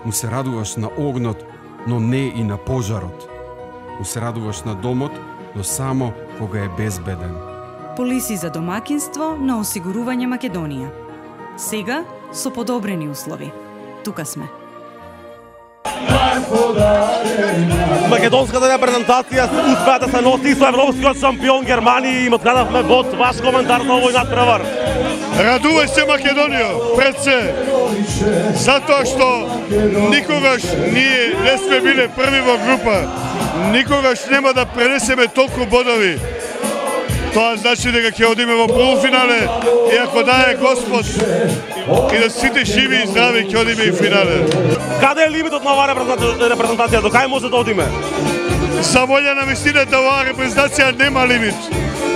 му се радуваш на огнот, но не и на пожарот. Му се радуваш на домот, но само кога е безбеден. Полиси за домакинство на осигурување Македонија. Сега со подобрени услови. Тука сме. Македонската репрезентација успеа да се носи со европскиот шампион Германија и им открадавме бод. Ваш коментар на овој надпревар? Радувај се Македонија, пред се, затоа што никогаш ние не сме биле први во група, никогаш нема да пренесеме толку бодови. Тоа значи дека ќе одиме во полуфинале и ако дае Господ и да сите живи и здрави ќе одиме и финале. Каде е лимитот на оваа репрезентација? До кај може да одиме? За волја на вистината оваа репрезентација нема лимит.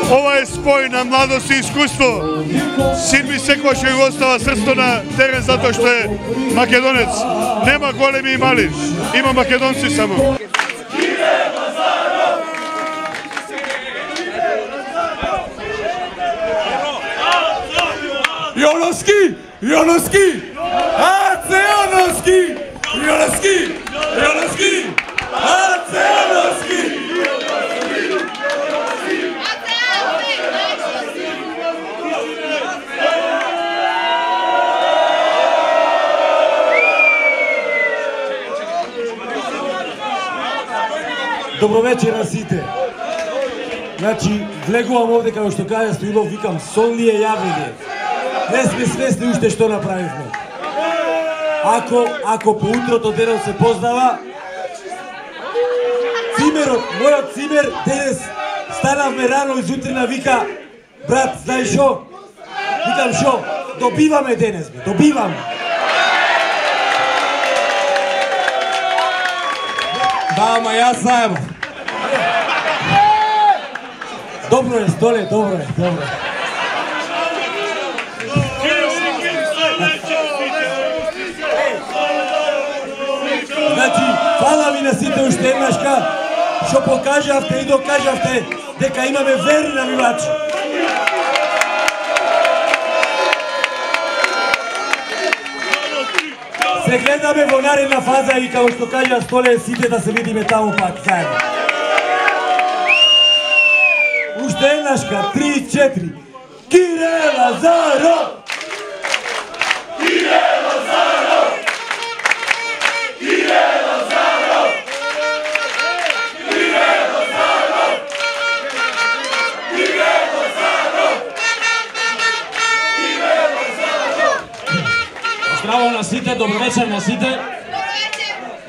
Ова е спој на младост и искуство. Син ми секогаш ќе го остава срцето на терен затоа што е македонец. Нема големи и мали, има македонци само. Jonoski! Jonoski! AC Jonoski! Jonoski! Jonoski! AC Jonoski! Добро вечер на сите. Значи, влегувам овде како што кажа Стоилов, викам, сон ли е јавление? Не сме свесни уште што направивме. Ако по утрото денот се познава, цимерот, мојот цимер, денес станавме рано изутрина, вика, брат, знаеш шо? Викам шо? Добиваме денес, бе, добиваме. Да, ама јас знаем. Добро е, Столе, добро е, добро е. Значи, фала ви на сите уште еднашка, што покажавте и докажавте дека имаме верни навивачи. Се гледаме во наредна фаза и како што кажа Столе, сите да се видиме таму пак заедно. Уште еднашка, 3-4. Кире Лазаров! Кире Лазаров! Кире Лазаров! Кире Лазаров! Кире Лазаров! Кире Лазаров! Здраво на сите, добро вечер на сите.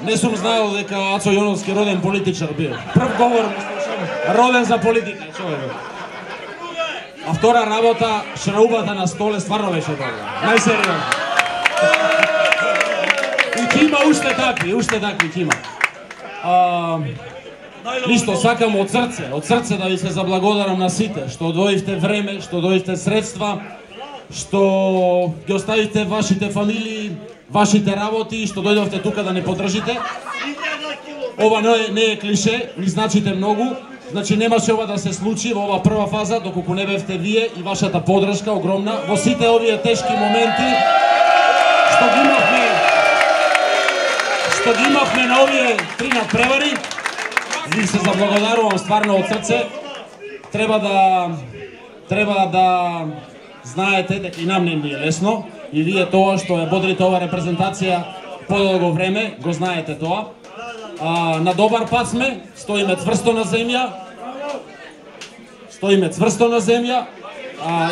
Не сум знаел дека Ацо Јоновски роден политичар бил. Прв говор ми слушам, роден за политика, човек. А втора работа, шраубата на Столе стварно беше добра. Најсериозно. И кима уште такви кима. Ништо, сакам од срце да ви се заблагодарам на сите, што одвоивте време, што дојдовте средства, што ги оставите вашите фамилии, вашите работи, што дојдовте тука да не поддржите. Ова не е клише, ни значите многу. Значи немаше ова да се случи во ова прва фаза, доколку не бевте вие и вашата поддршка огромна во сите овие тешки моменти што ги имавме на овие 3 надпревари. Ви се заблагодарувам стварно од срце. Треба да знаете дека и нам не е лесно и вие тоа што ја бодрите ова репрезентација подолго време, го знаете тоа. На добар пат сме, стоиме цврсто на земја.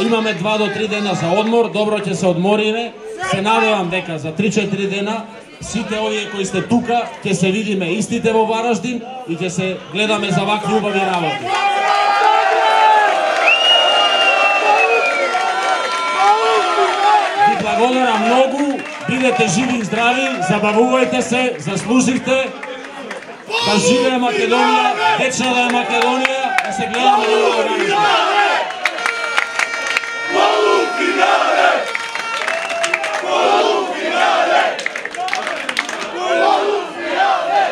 Имаме 2 до 3 дена за одмор, добро ќе се одмориме. Се надевам дека за 3-4 дена сите овие кои сте тука ќе се видиме истите во Вараштин и ќе се гледаме за вакви убави работи. Ви благодарам многу, бидете живи и здрави, забавувајте се, заслуживте. Да живее Македонија, вечна да е Македонија, да се гледаме на оваа Вараштин. Полуфинале! Полуфинале! Полуфинале!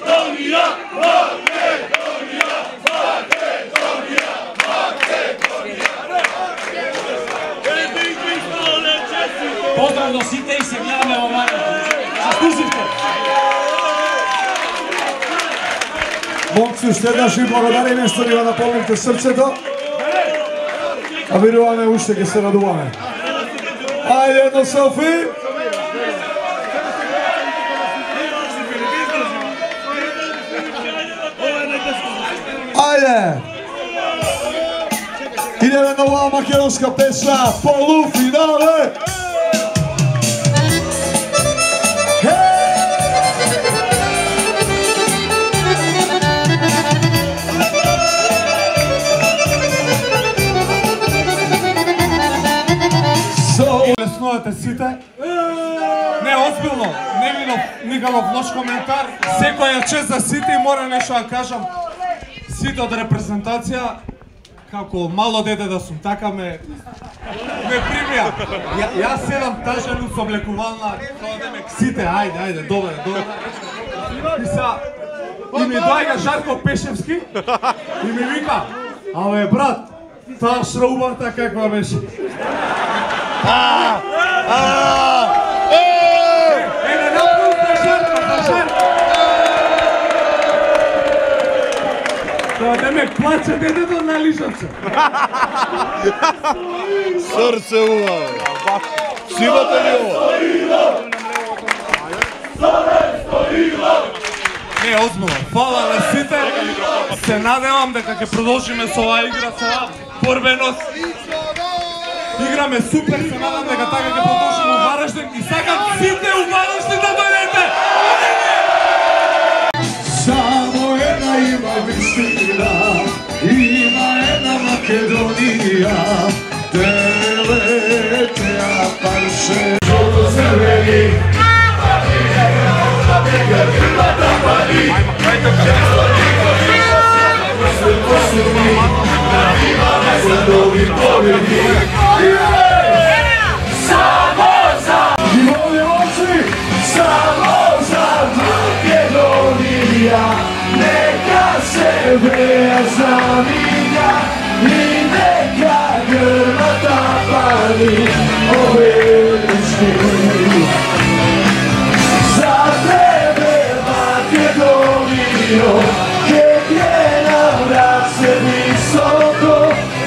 Македонија! Македонија! Македонија! Македонија! Поздрав до сите и се гледаме во Вараштин. Момци, уште еднаш ви благодариме што ни го наполнивте срцето. А веруваме уште ќе се радуваме. Ајде едно селфи. Ајде. Идеме на оваа македонска песна, полуфинале. Леснувате сите. Не, озбилно, не видов никаков лош коментар. Секоја чест за сите и мора нешто да кажам. Сите од репрезентација, како мало дете да сум, така ме примија. Јас седам тажен со облекувална, тоа демек сите, ајде, добре. И ми доаѓа Жарко Пешевски и ми вика, абе брат, таа шраубарта каква беше? Тоа демек плаче детето на лишавце. Срце убаво. Симате ли ово? Не, озбилно, фала на сите. Се надевам дека ќе продолжиме со оваа игра, со оваа борбеност. Играме супер, се надам дека така ќе продолжиме у Вараштин и сакам сите у Вараштин да дојдете! Само една има вистина, има една Македонија, телете ја парше. Neka se veja znamenja i neka grmata pali ovečni. Za tebe Makedonijo, kek je nam vrat se visoko,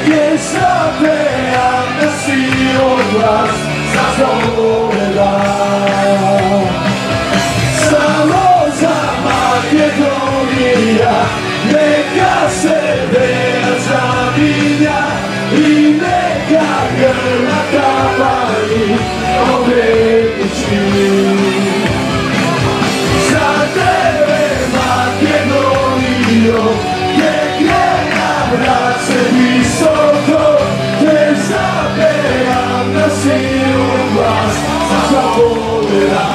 je zapejam da si odglas za zoveda. Samo za Makedonija, neka se veja zavinja i neka grmata pali ovečni. Za tebe Makedonijo, kek je nam vrat se visoko, te zapejam na silu glas za zoveda.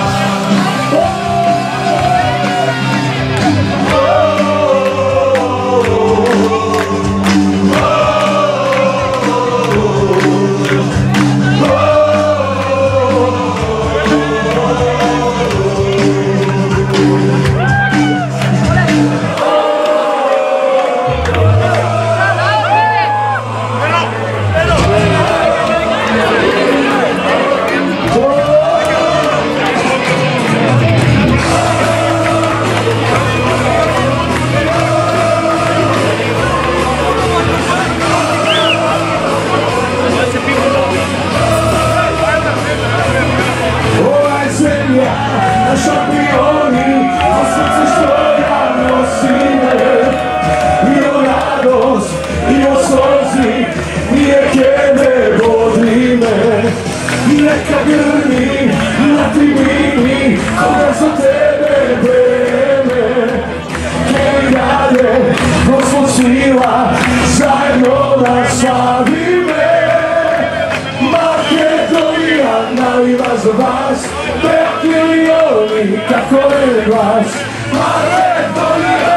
Neka grmi na tribini, koga za tebe vreme, koji dalje Gospod sila, zajedno da slavime. Makedonija naliva za vas, 5 milioni, kako je glas. Makedonija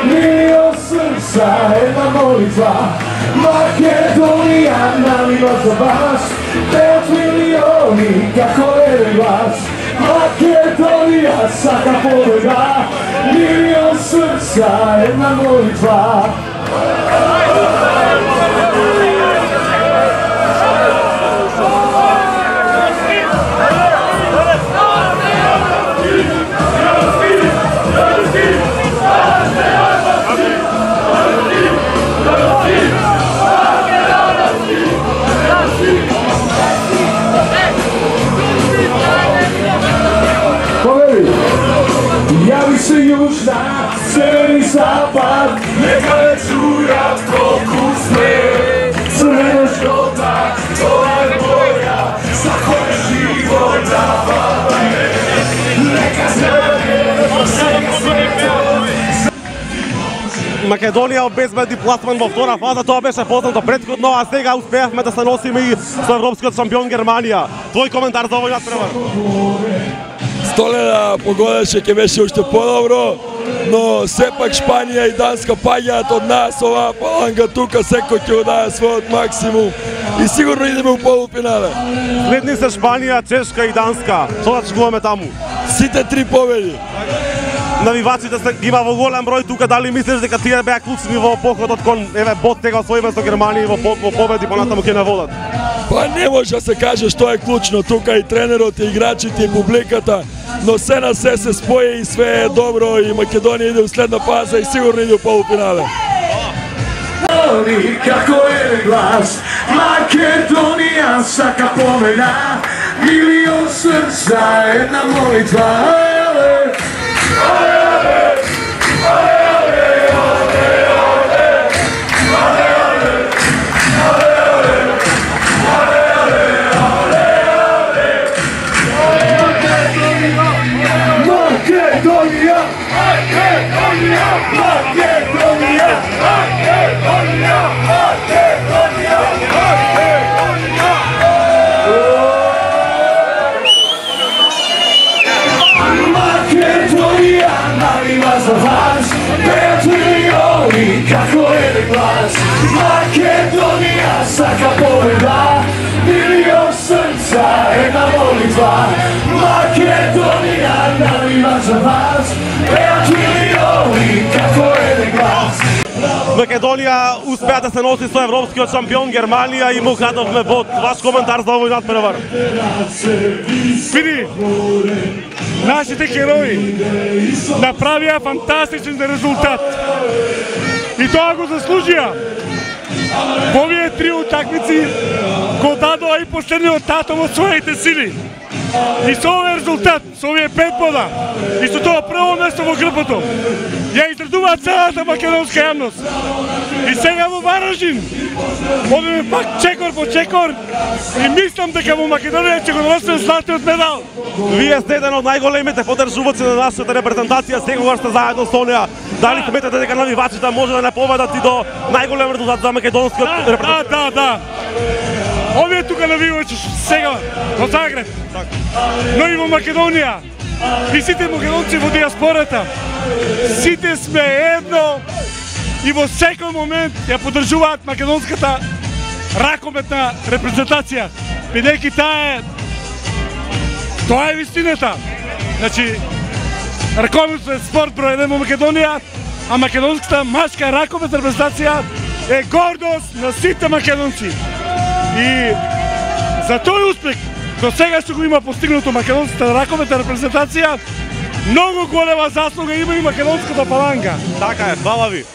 milion srca, jedna molitva. Makedonija naliva za vas, 5 milioni, kako je glas. Makedonija svaka pobjeda, milion srca, jedna molitva. запад, нека не чујат колку сме црвено жолта, тоа е боја за која живот даваме. Нека знаме, Македонија обезбеди пласман во втора фаза, тоа беше познато претходно, а сега успеавме да се носиме и со европскиот шампион Германија. Твој коментар за овој натпревар? Столеда погодеше ќе беше уште подобро, но сепак Шпанија и Данска паѓаат од нас, оваа паланга тука секој ќе даде својот максимум и сигурно идеме у полуфинале. Следни се Шпанија, Чешка и Данска. Што да чекуваме таму? Сите три победи. Навивачите се ги има во голем број тука, дали мислиш дека тие беа клучни во походот кон Бот тега освоиме со Германија во победи понатаму ќе не водат? Па не може да се каже што е клучно, тука и тренерот, и играчите, и публиката, но се на се спои и све е добро и Македонија иде у следна фаза и сигурно иде у полуфинале. Како е глас, Македонија сака победа, милион срца, една молитва. Како е глас, Македонија сака победа, милион срца, една молитва. Македонија навива за вас, пеат милиони, како е глас. Македонија успеа да се носи со европскиот шампион Германија и му крадовме Бот. Ваш коментар за овој натпревар? Види, нашите герои направија фантастичен резултат. И тоа го заслужија. Во овие три утакмици го дадоа и последниот татом од своите сили. И со овој резултат, со овие 5 бода, и со тоа прво место во групата, ја изредува целата македонска јавност. И сега во Вараждин, одиме пак чекор по чекор и мислам дека во Македонија ќе го носиме златниот медал. Вие сте еден од најголемите поддржувачи на нашата репрезентација, секогаш сте заедно со неа. Дали сметате дека навивачите може да не победат и до најголем резултат за македонскиот репрезентација? Да. Овие тука навивачи сега во Загреб, но и во Македонија. И сите македонци во диаспората, сите сме едно и во секој момент ја поддржуваат македонската ракометна репрезентација, бидејќи тоа е вистината. Значи, ракометен спорт број 1 во Македонија, а македонската машка ракометна репрезентација е гордост на сите македонци. И за тој успех до сега што го има постигнато македонската ракометна репрезентација, многу голема заслуга има и македонската паланга. Така е, фала ви.